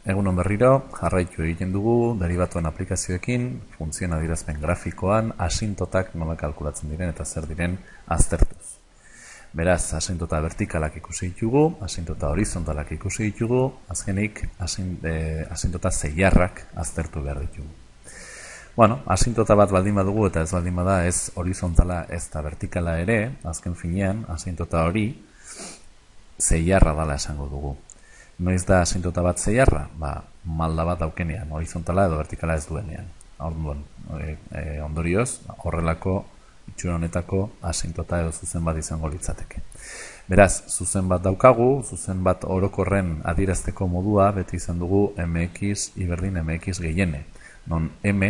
Egunon berriro, jarraitu egiten dugu derivatuen aplikazioekin, funtzioen adierazpen grafikoan, asintotak nola kalkulatzen diren eta zer diren aztertuz. Beraz, asintota vertikalak ikusi ditugu, asintota horizontalak ikusi ditugu, azkenik asintota zeiarrak aztertu behar ditugu. Bueno, asintota bat baldin badugu eta ez baldin bada ez horizontala ez da vertikala ere, azken finean, asintota hori zeiarra dala esango dugu. Noiz da asintota bat zeiarra? Malda bat daukenean, horizontala edo vertikala ez duenean. Ondorioz, horrelako itxura honetako asintota edo zuzen bat izango litzateke. Beraz, zuzen bat daukagu, zuzen bat orokorren adierazteko modua beti izan dugu mx iberdin mx gehiene. Non m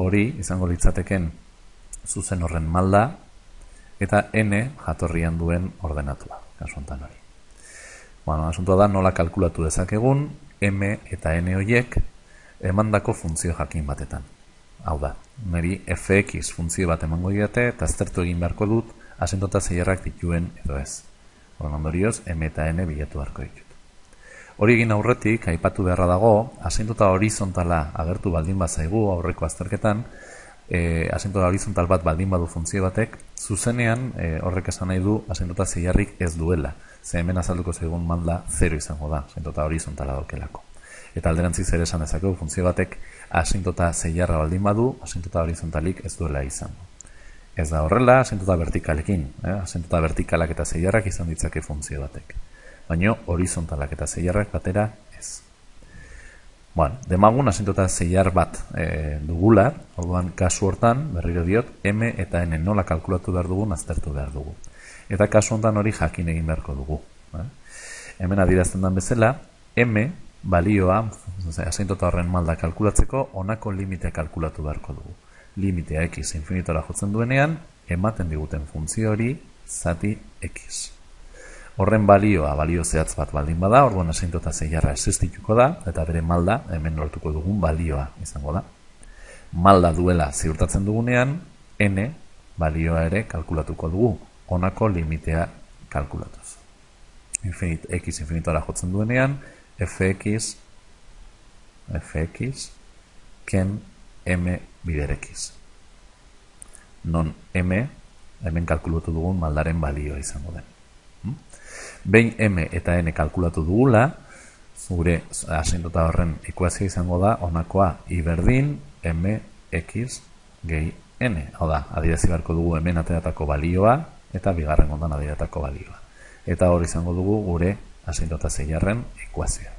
hori izango litzateken zuzen horren malda eta n jatorrian duen ordenatua, kasu honetan hori. Asuntoa da nola kalkulatu dezakegun m eta n horiek emandako funtzio jakin batetan. Hau da, niri fx funtzio bat emango didate eta aztertu egin beharko dut asintota zeiarrak dituen edo ez. Ondorioz, m eta n bilatu beharko ditut. Hori egin aurretik, aipatu beharra dago, asintota horizontala agertu baldin bazaigu aurreko azterketan, asintota horizontal bat baldin badu funtzio batek, zuzenean horrek esan nahi du asintota zeiarrik ez duela. Ze hemen azalduko zaigun malda 0 izango da, asintota horizontala daukelako. Eta alderantziz ere esan dezakegu funtzio batek asintota zeiarra baldin badu, asintota horizontalik ez duela izango. Ez da horrela asintota vertikalekin, asintota vertikalak eta zeiarrak izan ditzake funtzio batek. Baina horizontalak eta zeiarrak batera ez. Demagun asintota zeiar bat dugula, orduan kasu hortan, berriro diot, m eta n nola kalkulatu behar dugun aztertu behar dugu. Eta kasu honetan hori jakin egin beharko dugu. Hemen adierazten den bezala, m balioa, asintota horren malda kalkulatzeko, honako limitea kalkulatu beharko dugu. Limitea x infinitora jotzen duenean, ematen diguten funtzio hori zati x. Horren balioa, balio zehatz bat baldin bada, orduan asintota zeiarra existituko da, eta bere malda, hemen lortuko dugun balioa izango da. Malda duela ziurtatzen dugunean, n balioa ere kalkulatuko dugu, honako limitea kalkulatuz. X infinitora jotzen duenean, fx ken m bider x. Non m, hemen kalkulatu dugun maldaren balioa izango den. Behin m eta n kalkulatu dugula, gure asintota horren ekuazioa izango da, honakoa iberdin mx gehi n. Hau da, adierazi beharko dugu hemen ateratako balioa, eta bigarren ondan adieratako balioa. Eta hori izango dugu gure asintota zeiarren ekuazioa.